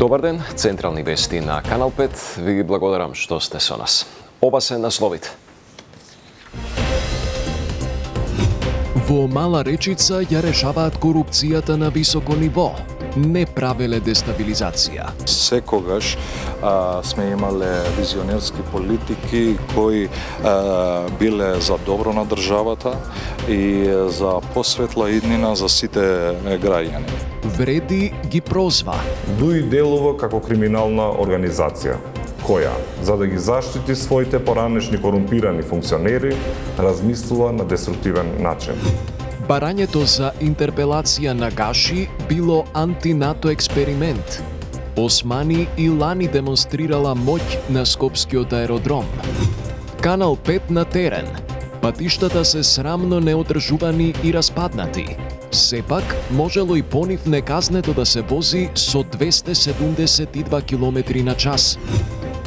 Добар ден, централни вести на Канал 5. Ви ги благодарам што сте со нас. Ова се насловите. Во Мала Речица ја решаваат корупцијата на високо ниво. Не правеле дестабилизација. Секогаш сме имале визионерски политики кои биле за добро на државата и за посветла иднина за сите граѓани. Вреди ги прозва. Дуи делува како криминална организација, која, за да ги заштити своите поранешни корумпирани функционери, размислува на деструктивен начин. Барањето за интерпелација на Гаши било антинато експеримент. Османи и Лани демонстрирала моќ на Скопскиот аеродром. Канал 5 на терен. Патиштата се срамно неодржувани и распаднати. Сепак, можело и по нив неказнето да се вози со 272 км на час.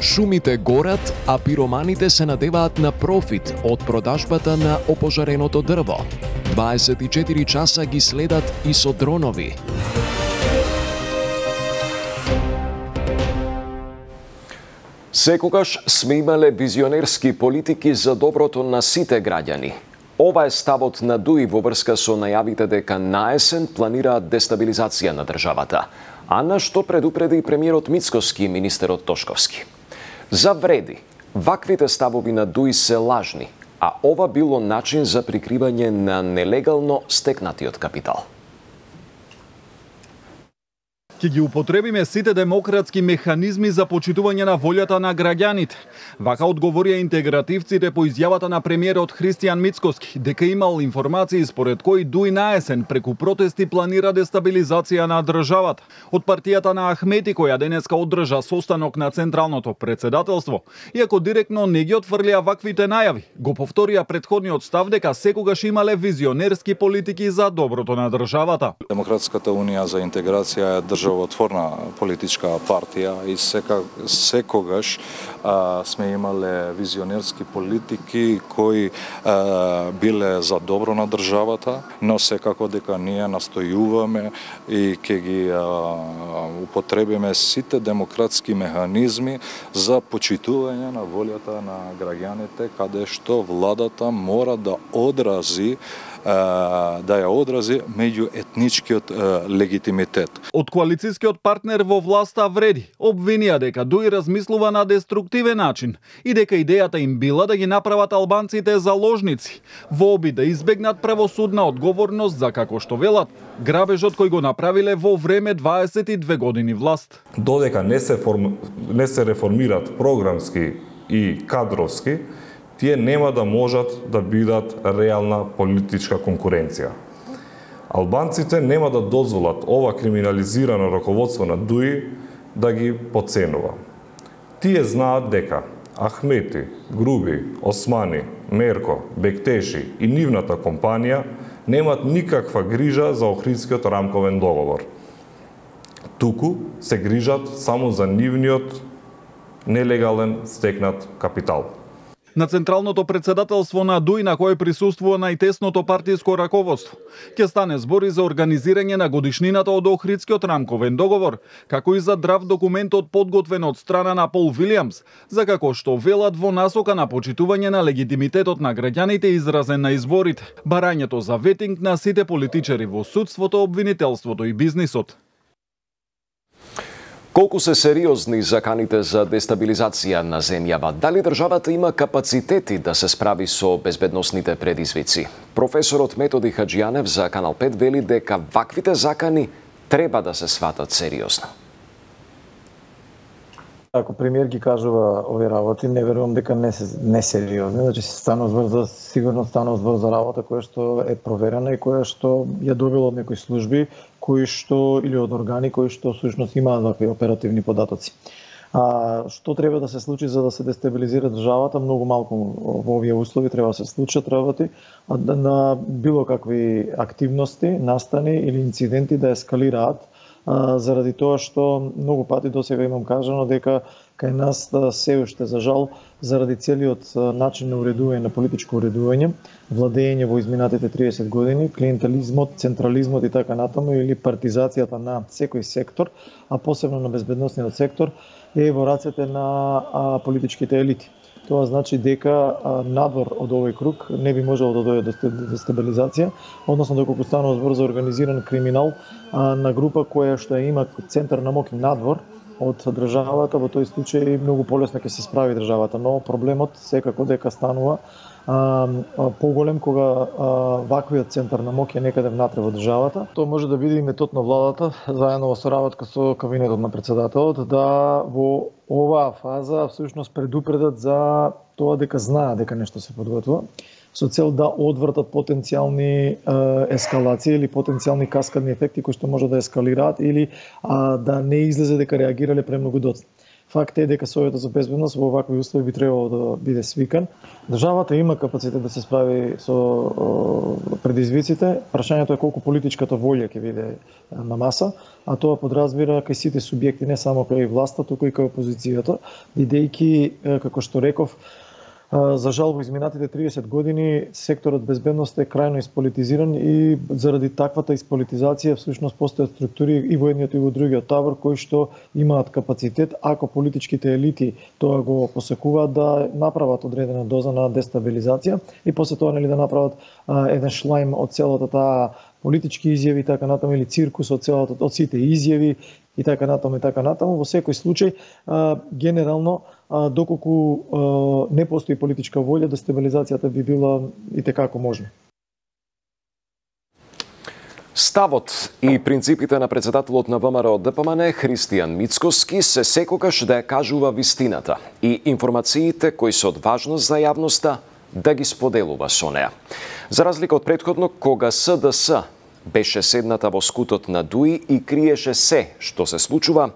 Шумите горат, а пироманите се надеваат на профит од продажбата на опожареното дрво. 24 часа ги следат и со дронови. Секогаш сме имале визионерски политики за доброто на сите граѓани. Ова е ставот на ДУИ во врска со најавите дека наесен планираат дестабилизација на државата, а на што предупреди премиерот Мицкоски и министерот Тошковски. За вреди, ваквите ставови на ДУИ се лажни, а ова било начин за прикривање на нелегално стекнатиот капитал. Ќе ги употребиме сите демократски механизми за почитување на волјата на граѓаните. Вака одговорија интегративците по изјавата на премиерот Христијан Мицкоски, дека имал информации според кои ДУИ наесен преку протести планира дестабилизација на државата. Од партијата на Ахмети, која денеска одржа состанок на Централното председателство, иако директно не ги отфрлија ваквите најави, го повторија претходниот став дека секогаш имале визионерски политики за доброто на државата. Демократската унија за интеграција е државотворна политичка партија и секогаш сме имале визионерски политики кои биле за добро на државата, но секако дека ние настојуваме и ќе ги употребиме сите демократски механизми за почитување на волјата на граѓаните, каде што владата мора да ја одрази меѓуетничкиот легитимитет. Од коалицијскиот партнер во власта вреди обвинија дека ДУИ размислува на деструктивен начин и дека идејата им била да ги направат албанците заложници во обид да избегнат правосудна одговорност за, како што велат, грабежот кој го направиле во време 22 години власт. Додека не се реформират програмски и кадровски, тие нема да можат да бидат реална политичка конкуренција. Албанците нема да дозволат ова криминализирано раководство на ДУИ да ги потценува. Тие знаат дека Ахмети, Груби, Османи, Мерко, Бектеши и нивната компанија немат никаква грижа за Охридскиот рамковен договор. Туку се грижат само за нивниот нелегален стекнат капитал. На Централното председателство на ДУИ, на кое присуствува најтесното партиско раководство, ќе стане збори за организирање на годишнината од Охридскиот рамковен договор, како и за драв документот подготвен од страна на Пол Вилијамс, за како што велат во насока на почитување на легитимитетот на граѓаните изразен на изборите, барањето за ветинг на сите политичари во судството, обвинителството и бизнисот. Колку се сериозни заканите за дестабилизација на земјава? Дали државата има капацитети да се справи со безбедносните предизвици? Професорот Методи Хаджијанев за Канал 5 вели дека ваквите закани треба да се сватат сериозно. Ако премиер ги кажува овие работи, не верувам дека не сериозни. Значи сигурно станува збор за работа која што е проверена и која што ја добила од некои служби кои што или од органи кои што всушност имаат вакви оперативни податоци. Што треба да се случи за да се дестабилизира државата? Многу малку во овие услови треба да се случат работи, на било какви активности, настани или инциденти да ескалираат заради тоа што многу пати досега имам кажано дека кај нас се уште за жал заради целиот начин на уредување, на политичко уредување, владење во изминатите 30 години, клиентелизмот, централизмот и така натаму или партизацијата на секој сектор, а посебно на безбедносниот сектор е во рацете на политичките елити. Тоа значи дека надвор од овој круг не би можело да дојде до дестабилизација, односно доколку станува збор за организиран криминал на група која што има центар на моќ надвор од државата, во тој случај многу полесно ќе се справи државата, но проблемот секако дека станува поголем кога ваквиот центар на моќ е некаде внатре во државата. Тоа може да биде и метод на владата, заедно во соработка со кабинетот на председателот, да во оваа фаза всушност предупредат за тоа дека знаат дека нешто се подготвува, со цел да одвртат потенцијални ескалации или потенцијални каскадни ефекти кои што може да ескалираат или да не излезе дека реагирале премногу доцна. Факт е дека Советот за безбедност во вакви услови би требало да биде свикан. Државата има капацитет да се справи со предизвиците. Прашањето е колку политичката волја ќе биде на маса, а тоа подразбира кај сите субјекти, не само кај власта, туку и кај опозицијата, бидејќи, како што реков, за жал во изминатите 30 години секторот безбедност е крајно исполитизиран и заради таквата исполитизација всушност постојат структури и во едниот и во другиот табор кои што имаат капацитет, ако политичките елити тоа го посекуваат, да направат одредена доза на дестабилизација и после тоа да направат еден шлајм од целата таа политички изјави и така натаму или циркус од сите изјави и така натаму. Во секој случај генерално доколку не постои политичка волја, дестабилизацијата би била и текако можна. Ставот и принципите на председателот на ВМРО ДПМН Христијан Мицкоски се секогаш да ја кажува вистината и информациите кои се од важност за јавноста да ги споделува со неа. За разлика од претходно, кога СДС беше седната во скутот на ДУИ и криеше се што се случува,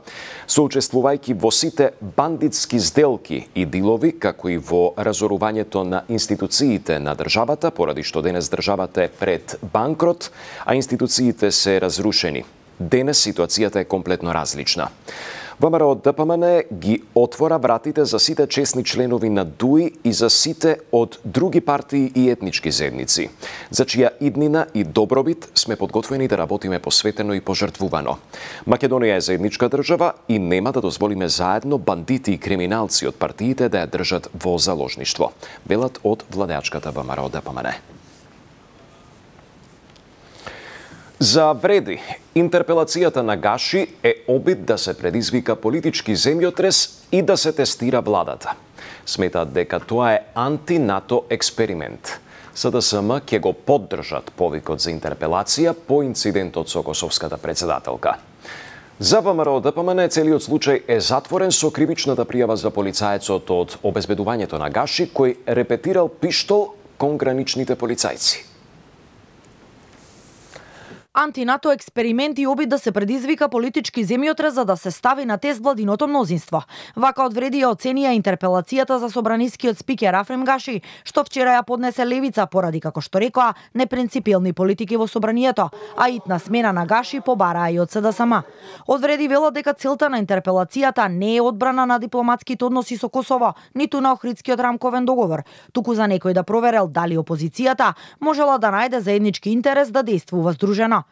соучествувајќи во сите бандитски сделки и дилови, како и во разорувањето на институциите на државата, поради што денес државата е пред банкрот, а институциите се разрушени. Денес ситуацијата е комплетно различна. ВМРО ДПМН ги отвора вратите за сите чесни членови на ДУИ и за сите од други партии и етнички заедници, за чија иднина и добробит сме подготвени да работиме посветено и пожртвувано. Македонија е заедничка држава и нема да дозволиме заедно бандити и криминалци од партиите да ја држат во заложништво, велат од владеачката ВМРО ДПМН. За вреди, интерпелацијата на Гаши е обид да се предизвика политички земјотрес и да се тестира владата. Сметаат дека тоа е анти-НАТО експеримент. СДСМ ќе го поддржат повикот за интерпелација по инцидентот со косовската председателка. За ВМРО ДПМН целиот случај е затворен со кривичната пријава за полицаецот од обезбедувањето на Гаши кој репетирал пиштол кон граничните полицајци. Анти-НАТО експеримент и обид да се предизвика политички земјотрес за да се стави на тест владиното мнозинство. Вака одвреди ја оценија интерпелацијата за собранискиот спикер Африм Гаши, што вчера ја поднесе Левица поради, како што рекоа, непринципиелни политики во собранието, а итна смена на Гаши побараа и од СДСМ. Одвреди велат дека целта на интерпелацијата не е одбрана на дипломатските односи со Косово, ниту на Охридскиот рамковен договор, туку за некој да проверел дали опозицијата можела да најде заеднички интерес да действува здружено.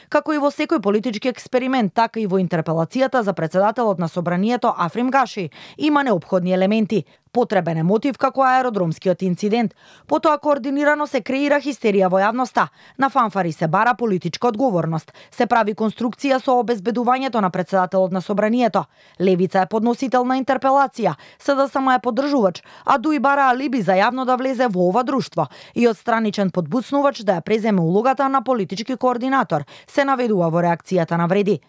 Како и во секој политички експеримент, така и во интерпелацијата за председателот на собранието Африм Гаши има неопходни елементи. Потребен е мотив како аеродромскиот инцидент. Потоа координирано се креира хистерија во јавноста. На фанфари се бара политичка одговорност. Се прави конструкција со обезбедувањето на председателот на собранието. Левица е подносител на интерпелација, СДСМ е поддржувач, а ДУИ бара алиби за јавно да влезе во ова друштво и од страничен подбуцнувач да ја преземе улогата на политички координатор, се наведува во реакцијата на вреди.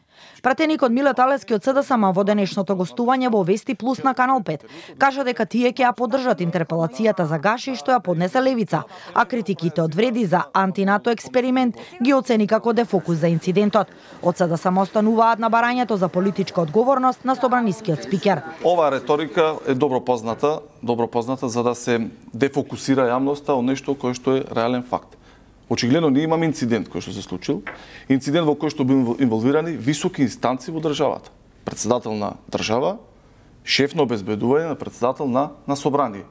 Пратеникот Милет Алески од СДСМ во денешното гостување во Вести Плюс на Канал 5 кажа дека тие ќе ја поддржат интерпелацијата за Гаши што ја поднесе Левица, а критиките од вреди за анти-НАТО експеримент ги оцени како дефокус за инцидентот. Од СДСМ остануваат на барањето за политичка одговорност на собранискиот спикер. Оваа реторика е добро позната за да се дефокусира јавноста од нешто кое што е реален факт. Очигледно ние имаме инцидент кој што се случил, инцидент во кој што бил инволвирани високи инстанци во државата. Председател на држава, шеф на обезбедување на председател на собрание.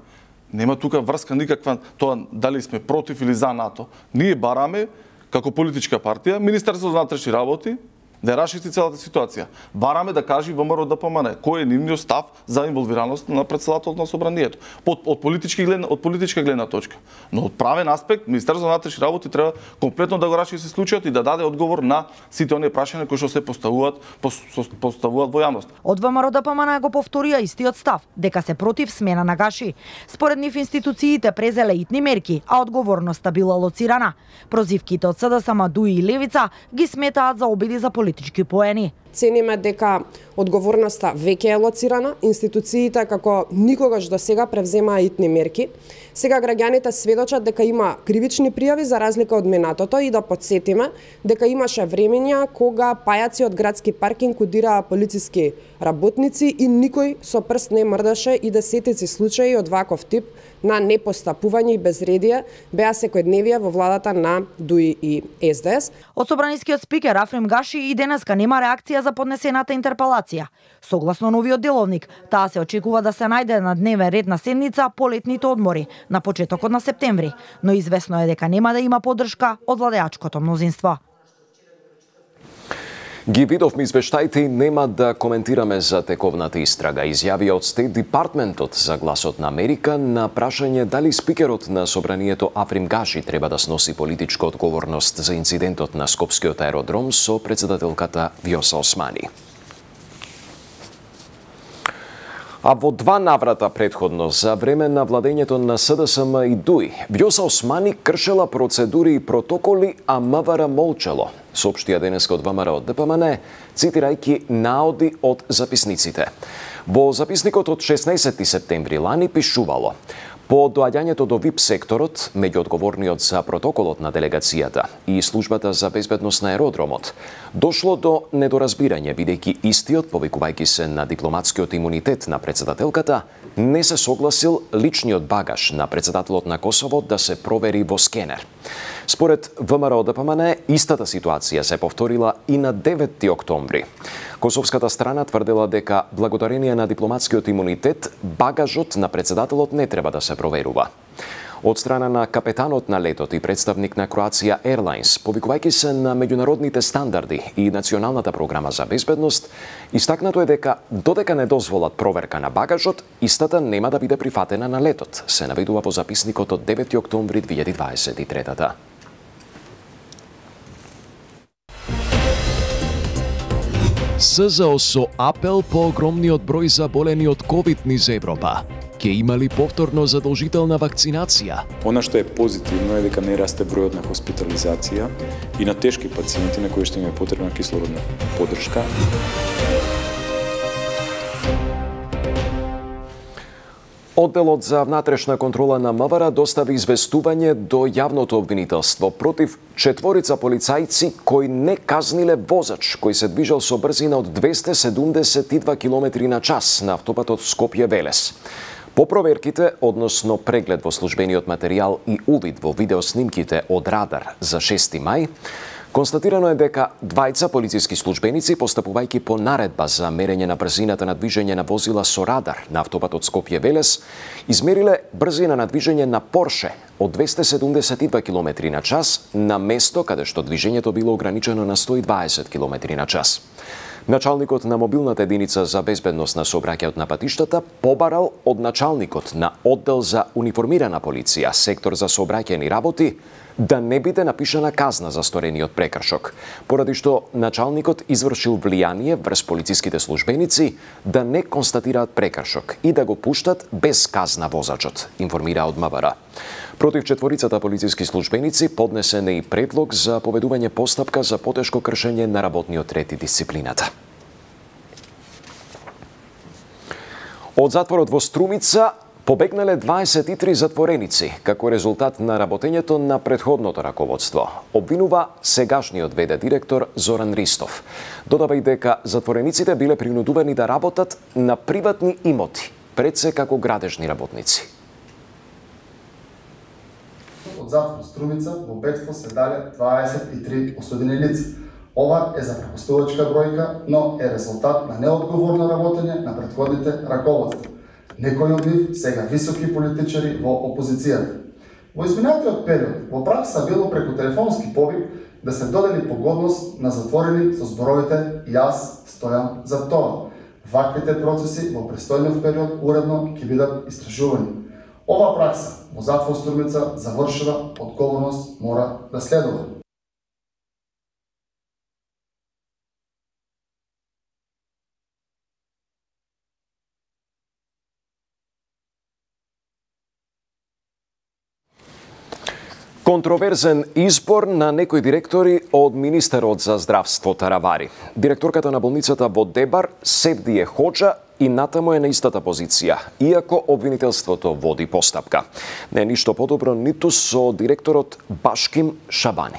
Нема тука врска никаква тоа дали сме против или за НАТО. Ние бараме како политичка партија Министерството за внатрешни работи да расчисти целата ситуација. Бараме да кажи ВМРО ДПМН кој е нивниот став за инволвираност на председателот на собранието од политичка гледна точка. Но од правен аспект Министерството за внатрешни работи треба комплетно да го расчисти случајот и да даде одговор на сите оние прашања кои што се поставуваат во јавност. Од ВМРО ДПМН го повторија истиот став дека се против смена на Гаши. Според нив институциите презеле итни мерки, а одговорноста била лоцирана. Прозивките од СДСМ, ДУИ и Левица ги сметаат за обиди за политички поени. Цениме дека одговорноста веќе е лоцирана, институциите како никогаш до сега превземаа итни мерки. Сега граѓаните сведочат дека има кривични пријави за разлика од минатото и да подсетиме дека имаше времења кога пајаци од градски паркинг удираа полициски работници и никој со прст не мрдаше и десетици случаи од ваков тип на непостапување и безредие беа секојдневие во владата на ДУИ и СДС. Од собранискиот спикер Африм Гаши и денеска нема реакција за поднесената интерпелација. Согласно новиот деловник, таа се очекува да се најде на дневен ред на седница по летните одмори, на почетокот на септември, но известно е дека нема да има поддршка од владеачкото мнозинство. Ги видовме извештаите и нема да коментираме за тековната истрага, изјави од Стейт Департментот за Гласот на Америка на прашање дали спикерот на собранието Африм Гаши треба да сноси политичка одговорност за инцидентот на Скопскиот аеродром со председателката Вјоса Османи. А во два наврата предходно за време на владењето на СДСМ и ДУИ, Вјоса Османи кршела процедури и протоколи, а МВР молчало, соопштија денеска од ВМРО ДПМН, цитирајќи наоди од записниците. Во записникот од 16 септември лани пишувало: по доаѓањето до ВИП секторот, меѓу одговорниот за протоколот на делегацијата и службата за безбедност на аеродромот, дошло до недоразбирање, бидејќи истиот, повикувајќи се на дипломатскиот имунитет на председателката, не се согласил личниот багаж на председателот на Косово да се провери во скенер. Според ВМРО ДПМН, истата ситуација се повторила и на 9 октомври. Косовската страна тврдела дека благодарение на дипломатскиот имунитет, багажот на председателот не треба да се проверува. Од страна на капетанот на летот и представник на Croatia Airlines, повикувајќи се на меѓународните стандарди и националната програма за безбедност, истакнато е дека додека не дозволат проверка на багажот, истата нема да биде прифатена на летот, се наведува во записникот од 9 октомври 2023. СЗО со апел по огромниот број заболени од ковид низ Европа. Ке имали повторно задолжителна вакцинација? Она што е позитивно е дека не расте бројот на хоспитализација и на тешки пациенти на кои што им е потребна кислородна поддршка. Одделот за внатрешна контрола на МВР достави известување до јавното обвинителство против 4 полицајци кои не казниле возач кој се движел со брзина од 272 км на час на автопатот Скопје-Велес. По проверките, односно преглед во службениот материјал и увид во видеоснимките од радар за 6 мај, констатирано е дека двајца полициски службеници, постапувајќи по наредба за мерење на брзината на движење на возила со радар на автопатот Скопје-Велес, измериле брзина на движење на Порше од 272 км на час на место каде што движењето било ограничено на 120 км на час. Началникот на мобилната единица за безбедност на сообраќајот на патиштата побарал од началникот на оддел за униформирана полиција, сектор за сообраќајни работи, да не биде напишана казна за сторениот прекршок, поради што началникот извршил влијание врз полициските службеници да не констатираат прекршок и да го пуштат без казна возачот, информира од МВР. Против 4 полициски службеници поднесен е и предлог за поведување постапка за потешко кршење на работниот ред и дисциплината. Од затворот во Струмица побегнале 23 затвореници како резултат на работењето на претходното раководство, обвинува сегашниот ВД директор Зоран Ристов. Додава и дека затворениците биле принудувани да работат на приватни имоти, пред се како градежни работници. затвор Струмица во бегство се дале 23 осудени лица. Ова е запрепастувачка бројка, но е резултат на неодговорно работење на претходните раководства. Некои од нив сега високи политичари во опозицијата. Во изминатиот период, во пракса било преку телефонски повик да се додели погодност на затворени со зборовите "Јас стојам за тоа". Ваквите процеси во престојниот период уредно ќе бидат истражувани. Ова пракса во затвор Струмица завршила, одговорност мора да следува. Контроверзен избор на некои директори од Министерот за здравство Таравари. Директорката на болницата во Дебар, Севдие Хоџа, и натаму е на истата позиција, иако обвинителството води постапка. Не е ништо подобро ниту со директорот Башким Шабани.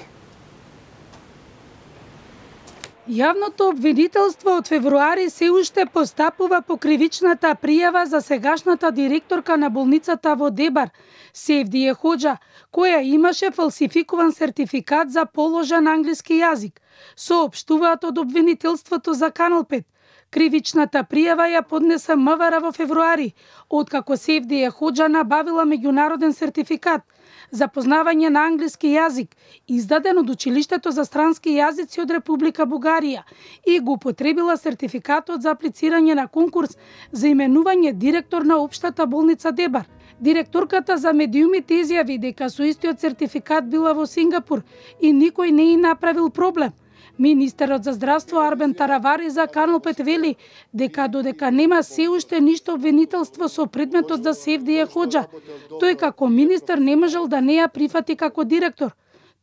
Јавното обвинителство од февруари се уште постапува по кривичната пријава за сегашната директорка на болницата во Дебар, Севдие Хоџа, која имаше фалсификуван сертификат за положен англиски јазик, соопштуваат од обвинителството за Канал 5. Кривичната пријава ја поднесе МВР во февруари, откако Севдие Хоџа набавила меѓународен сертификат за познавање на англиски јазик, издаден од Училиштето за странски јазици од Република Бугарија, и го употребила сертификатот за аплицирање на конкурс за именување директор на Општата болница Дебар. Директорката за медиумите изјави дека со истиот сертификат била во Сингапур и никој не и направил проблем. Министерот за здравство Арбен Таравари за Канал 5 вели дека додека нема се уште ништо обвинителство со предметот за Севдие Хоџа, тој како министер не можел да не ја прифати како директор.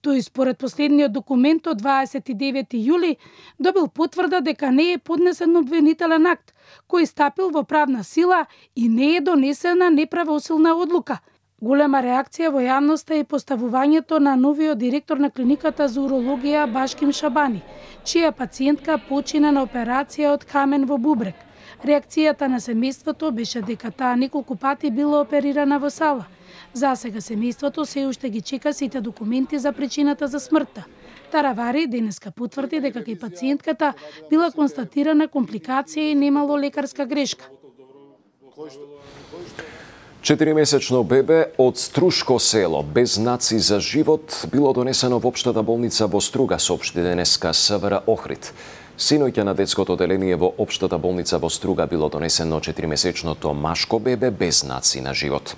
Тој според последниот документ од 29 јули добил потврда дека не е поднесен обвинителен акт, кој стапил во правна сила и не е донесена неправосилна одлука. Голема реакција во јавноста е поставувањето на новиот директор на клиниката за урологија Башким Шабани, чија пациентка почина на операција од камен во бубрек. Реакцијата на семејството беше дека таа неколку пати била оперирана во сала. За сега семејството се уште ги чека сите документи за причината за смртта. Таравари денеска потврди дека кај пациентката била констатирана компликација и немало лекарска грешка. 4-месечно бебе од Струшко село без знаци за живот било донесено во Општата болница во Струга, соопшти денеска СВР Охрид. Синоќа на детското оделение во Општата болница во Струга било донесено 4-месечното машко бебе без знаци на живот.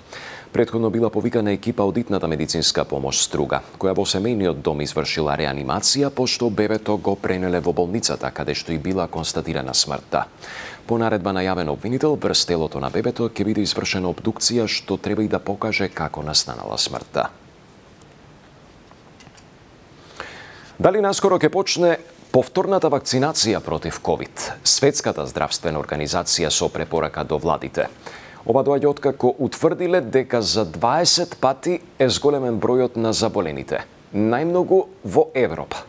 Претходно била повикана екипа од итната медицинска помош Струга, која во семејниот дом извршила реанимација, пошто бебето го пренеле во болницата, каде што и била констатирана смртта. По наредба на јавен обвинител, врз телото на бебето ќе биде извршена обдукција, што треба и да покаже како настанала смртта. Дали наскоро ќе почне повторната вакцинација против ковид? Светската здравствена организација со препорака до владите. Ова доаѓа откако утврдиле дека за 20 пати е зголемен бројот на заболените, најмногу во Европа.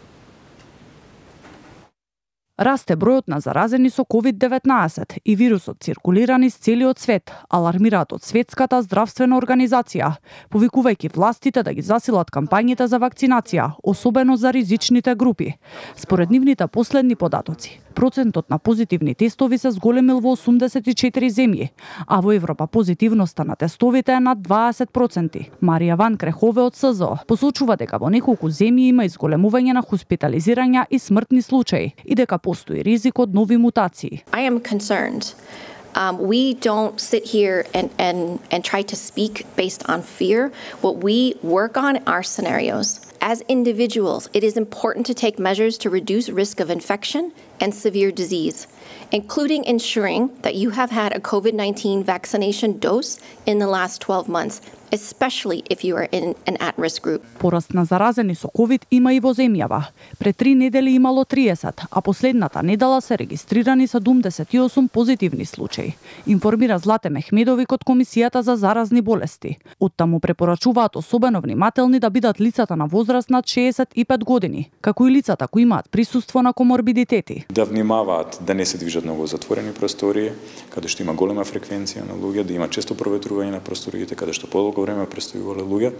Расте бројот на заразени со COVID-19 и вирусот циркулира низ целиот свет, алармираат од Светската здравствена организација, повикувајќи властите да ги засилат кампањите за вакцинација, особено за ризичните групи. Според нивните последни податоци, процентот на позитивни тестови се зголемил во 84 земји, а во Европа позитивноста на тестовите е над 20%. Марија Ван Крехове од СЗО посочува дека во неколку земји има изголемување на хоспитализирања и смртни случаи и дека постои ризик од нови мутации. I am concerned. We don't sit here and try to speak based on fear. What we work on are scenarios. As individuals, it is important to take measures to reduce risk of infection and severe disease, including ensuring that you have had a COVID-19 vaccination dose in the last 12 months, especially if you are in an at-risk group. Пораст на заразени со ковид има и во земјава. Пред 3 недели имало 30, а последната недела се регистрирани 78 позитивни случаи, информира Злате Мехмедовик од Комисијата за заразни болести. Оттаму препорачуваат особено внимателни да бидат лицата на возраст возраст над 65 години, како и лицата кои имаат присуство на коморбидитети. Да внимаваат да не се движат многу затворени простории, каде што има голема фреквенција на луѓе, да има често проветрување на просториите, каде што подолго време престојувале луѓе,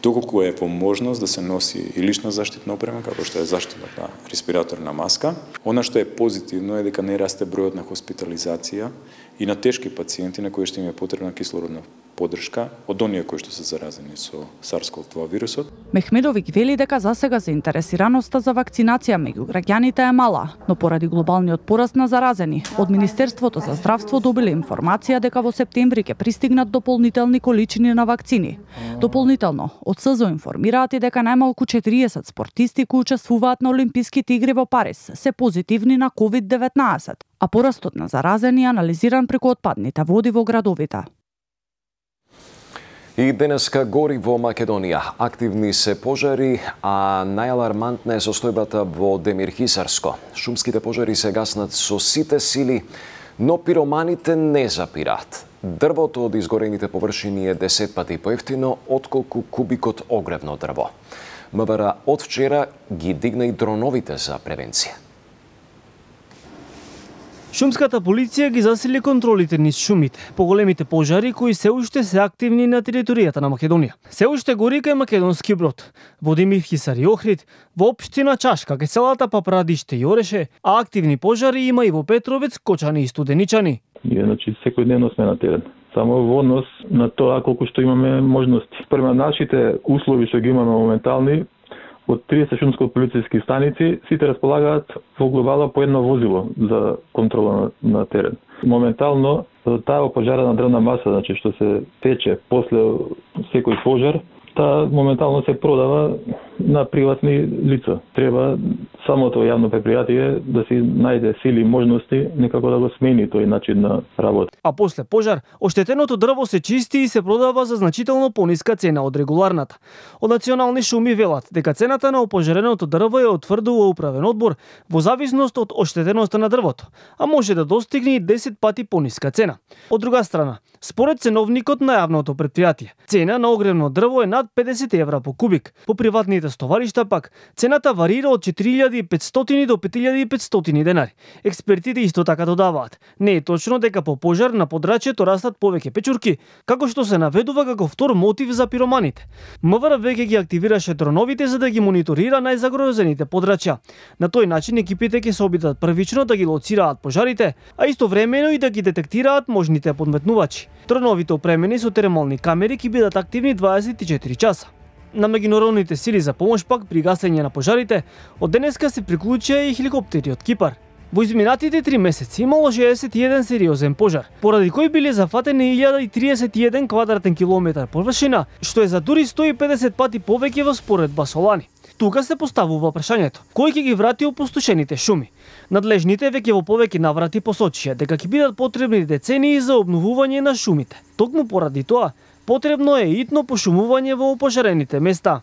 доколку е во можност да се носи и лична заштитна опрема, како што е заштитната респираторна маска. Она што е позитивно е дека не расте бројот на хоспитализација и на тешки пациенти на кои што им е потребна кислородна поддршка од оние кои што се заразени со SARS-CoV-2 вирусот. Мехмедовиќ вели дека засега заинтересираноста за вакцинација меѓу граѓаните е мала, но поради глобалниот пораст на заразени, од Министерството за здравство добиле информација дека во септември ќе пристигнат дополнителни количини на вакцини. Дополнително, од СЗО информираат и дека најмалку 40 спортисти кои учествуваат на Олимписките игри во Париз се позитивни на COVID-19, а порастот на заразени е анализиран преку отпадните води во градовите. И денеска гори во Македонија. Активни се пожари, а најалармантна е состојбата во Демирхисарско. Шумските пожари се гаснат со сите сили, но пироманите не запираат. Дрвото од изгорените површини е 10 пати поевтино отколку кубикот огревно дрво. МВР од вчера ги дигна и дроновите за превенција. Шумската полиција ги засили контролите низ шумите, поголемите пожари кои се уште се активни на територијата на Македонија. Се уште гори кај Македонски Брод, во Демирхисар и Охрид, во општина Чашка, кај селата Папрадиште и Ореше, а активни пожари има и во Петровец, Кочани и Студеничани. Значи, секојдневно сме на терен. Само во однос на тоа колку што имаме можности. Према нашите услови што ги имаме моментални, од 30 шумско-полициски станици, сите располагаат во глобала по едно возило за контрола на терен. Моментално, таа опожарена дрвна маса, значи што се тече после секој пожар, таа моментално се продава на приватни лица. Треба самото јавно предпријатие да си најде сили и можности некако да го смени тој начин на работа. А после пожар, оштетеното дрво се чисти и се продава за значително пониска цена од регуларната. Од национални шуми велат дека цената на опожареното дрво е утврдува управен одбор во зависност од оштетеноста на дрвото, а може да достигне и 10 пати пониска цена. Од друга страна, според ценовникот на јавното предпријатие, цена на огревно дрво е над 50 евра по кубик. По приватните стоваришта пак, цената варира од 4500 до 5500 денари. Експертите исто така додаваат. Не е точно дека по пожар на подрачјето растат повеќе печурки, како што се наведува како втор мотив за пироманите. МВР веќе ги активираше дроновите за да ги мониторира најзагрозените подрачја. На тој начин екипите ќе се обидат првично да ги лоцираат пожарите, а истовремено и да ги детектираат можните подметнувачи. Дроновите опремени со термални камери ќе бидат активни 24 часа. На меѓународните сили за помош пак при гасење на пожарите, од денеска се приклучија и хеликоптери од Кипар. Во изминатите 3 месеци имало 61 сериозен пожар, поради кој биле зафатени 1031 квадратен километар површина, што е за дури 150 пати повеќе во споредба со лани. Тука се поставува прашањето: кој ќе ги врати опустошените шуми? Надлежните веќе во повеќе наврати посочија дека ќе бидат потребни децении за обновување на шумите. Токму поради тоа, потребно е итно пошумување во опожарените места.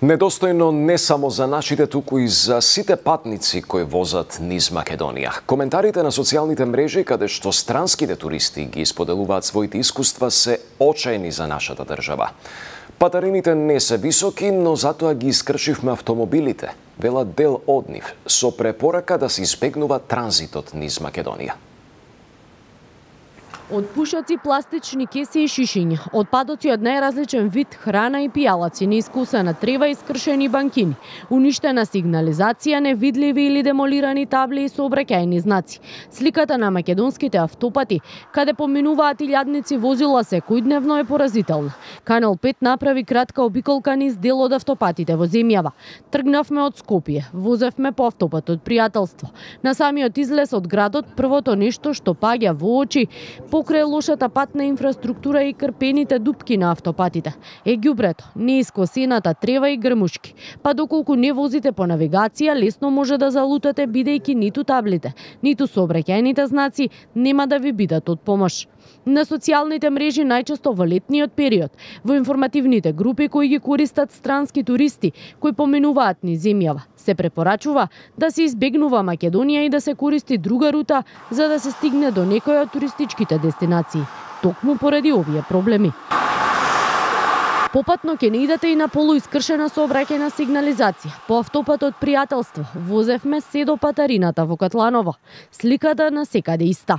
Недостојно не само за нашите, туку и за сите патници кои возат низ Македонија. Коментарите на социјалните мрежи каде што странските туристи ги споделуваат своите искуства се очајни за нашата држава. Патарините не се високи, но затоа ги искршивме автомобилите, велат дел од нив, со препорака да се избегнува транзитот низ Македонија. Од пушаци, пластични кеси и шишиња, отпадоци од најразличен вид храна и пијалаци, неискусена трева и скршени банкини, уништена сигнализација, невидливи или демолирани табли и сообраќајни знаци. Сликата на македонските автопати, каде поминуваат илјадници возила секојдневно, е поразителна. Канал 5 направи кратка обиколка низ дел од автопатите во земјава. Тргнавме од Скопје, возевме по автопатот Пријателство. На самиот излез од градот, првото нешто што паѓа во очи покрај лошата патна инфраструктура и крпените дупки на автопатите е ѓубрето, неискосената трева и грмушки. Па доколку не возите по навигација, лесно може да залутате, бидејќи ниту таблите, ниту сообраќајните знаци нема да ви бидат од помош. На социјалните мрежи, најчесто во летниот период, во информативните групи кои ги користат странски туристи кои поминуваат низ земјава, се препорачува да се избегнува Македонија и да се користи друга рута за да се стигне до некоја од туристичките дестинации, токму поради овие проблеми. Попатно ќе не идете и на полуискршена сообраќајна сигнализација. По автопатот Пријателство возевме се до Патарината во Катланово. Сликата на секаде иста.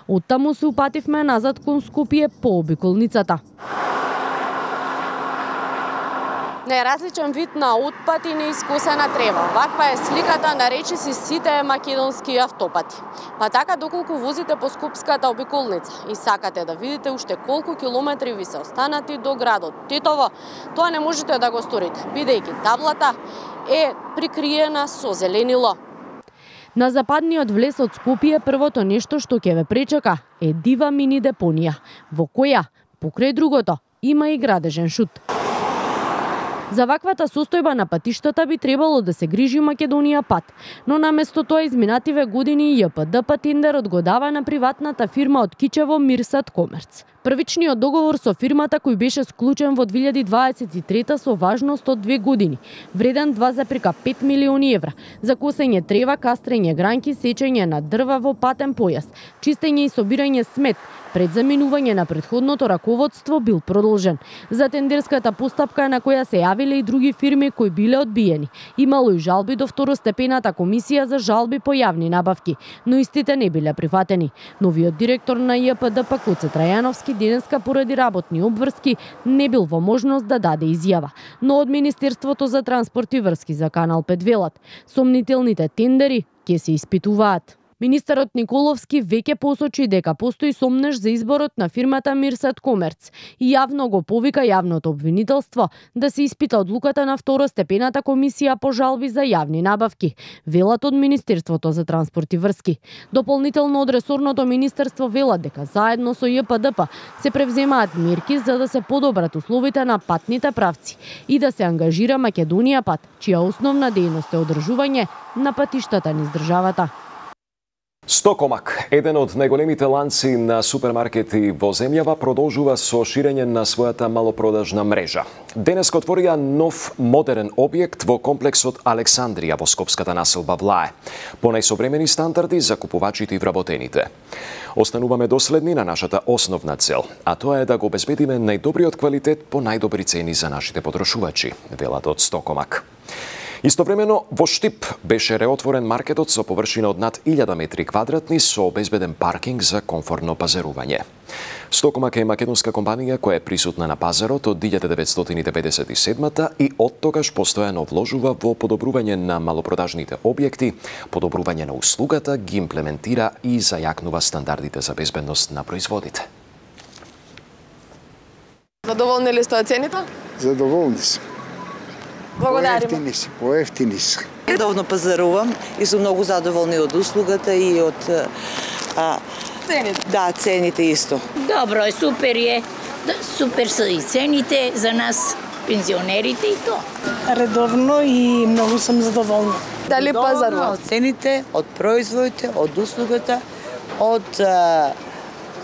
Оттаму се упативме назад кон Скопје по обиколницата. Неразличен вид на отпад и неискосена трева. Ваква е сликата на речиси сите македонски автопати. Па така доколку возите по Скопската обиколница и сакате да видите уште колку километри ви се останати до градот Тетово, тоа не можете да го сторите, бидејќи таблата е прикриена со зеленило. На западниот влез од Скопје првото нешто што ќе ве пречека е дива мини депонија, во која, покрај другото, има и градежен шут. За ваквата состојба на патиштата би требало да се грижи Македонија пат, но наместо тоа изминативе години ЈПДП тендерот го дава на приватната фирма од Кичево Мирсат Комерц. Првичниот договор со фирмата кој беше склучен во 2023 со важност од 2 години, вреден 2,5 милиони евра, за косење трева, кастрење гранки, сечење на дрва во патен појас, чистење и собирање смет, пред заминување на претходното раководство бил продолжен. За тендерската постапка на која се јавиле и други фирми кои биле одбиени. Имало и жалби до второстепената комисија за жалби по јавни набавки, но истите не биле прифатени. Новиот директор на ЈПДП Коце Трајановски денеска поради работни обврски не бил во можност да даде изјава, но од Министерството за транспорт и врски за Канал 5 велат, сомнителните тендери ќе се испитуваат. Министерот Николовски веќе посочи дека постои сомнеж за изборот на фирмата Мирсат Комерц и јавно го повика јавното обвинителство да се испита одлуката на второстепената комисија по жалби за јавни набавки, велат од Министерството за транспорт и врски. Дополнително од ресорното министерство велат дека заедно со ЈПДП се превземаат мерки за да се подобрат условите на патните правци и да се ангажира Македонија пат, чија основна дејност е одржување на патиштата низ државата. Стокомак, еден од најголемите ланци на супермаркети во земјава, продолжува со ширење на својата малопродажна мрежа. Денес отворија нов модерен објект во комплексот Александрија во скопската населба Влае, по најсовремени стандарди за купувачите и вработените. Остануваме доследни на нашата основна цел, а тоа е да го обезбедиме најдобриот квалитет по најдобри цени за нашите потрошувачи, велат од Стокомак. Истовремено, во Штип беше реотворен маркетот со површина од над 1000 метри квадратни со обезбеден паркинг за комфортно пазарување. Стокомак е македонска компанија која е присутна на пазарот од 1997 и од тогаш постојано вложува во подобрување на малопродажните објекти, подобрување на услугата, ги имплементира и зајакнува стандардите за безбедност на производите. Задоволни ли сте од цените? Задоволни сме. Благодариме. Поевтини се. Редовно пазарувам и сум многу задоволни од услугата и од цените. Да, цените исто. Добро е, супер е. Супер се и цените за нас, пензионерите и то. Редовно и многу сум задоволна. Дали пазарувате? Од цените, од производите, од услугата, од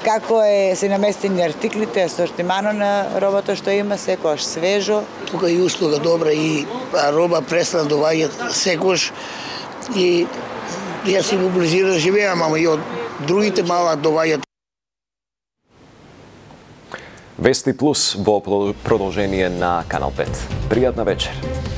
како се наместени артиклите, асортимано на робата што има, секојаш свежо. Тука и услуга добра и роба престана доваѓа секојаш и јас си во близина живеам, ама и од другите мала доваѓаат. Вести Плюс во продолжение на Канал 5. Пријатна вечер.